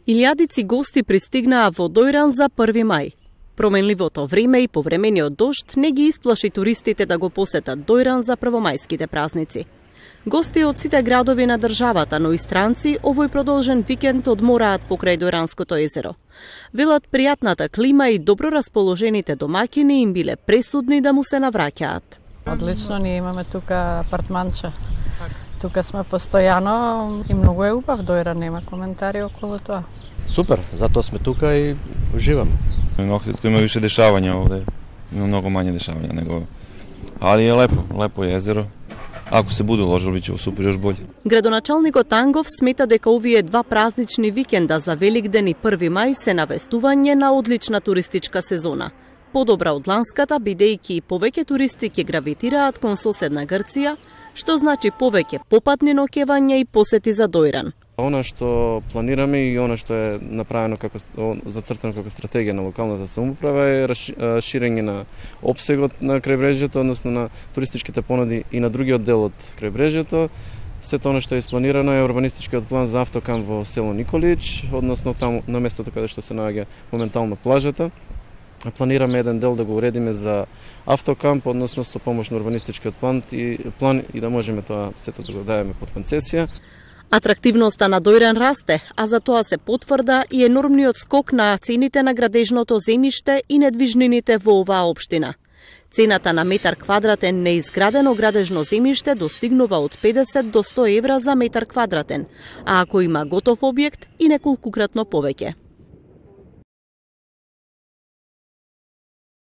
Илјадици гости пристигнаа во Дојран за 1 мај. Променливото време и повремениот дожд не ги исплаши туристите да го посетат Дојран за првомајските празници. Гости од сите градови на државата, но и странци, овој продолжен викенд одмораат покрај Дојранското езеро. Велат пријатната клима и добро расположените домаќини им биле пресудни да му се навраќаат. Одлично, ние имаме тука апартманче. Тука сме постојано и многу е убав Дојран, нема коментари околу тоа. Супер, затоа сме тука и уживаме. На Охридско има више дешавања овде, има многу мање дешавања него. Али е лепо е езеро. Ако се буде уложил, биќе супер још боле. Градоначалникот Ангов смета дека овие два празнични викенда за Великден и 1 мај се навестување на одлична туристичка сезона. Подобра од ланската, бидејќи повеќе туристи ќе гравитираат кон соседна Грција, што значи повеќе попатни ноќевања и посети за Дојран. Она што планираме и она што е направено зацртано како стратегија на локалната самоуправа е ширење на опсегот на крајбрежјето, односно на туристичките понуди и на другиот дел од крајбрежјето. Сето она што е испланирано е урбанистичкиот план за автокамп во село Николич, односно таму на местото каде што се наоѓа моментално плажата. Планираме еден дел да го уредиме за автокамп, односно со помош на урбанистичкиот план и да можеме тоа сето да го дадеме под концесија. Атрактивноста на Дојран расте, а за тоа се потврда и енормниот скок на цените на градежното земјиште и недвижнините во оваа општина. Цената на метар квадратен неизградено градежно земјиште достигнува од 50 до 100 евра за метар квадратен, а ако има готов објект и неколкукратно повеќе.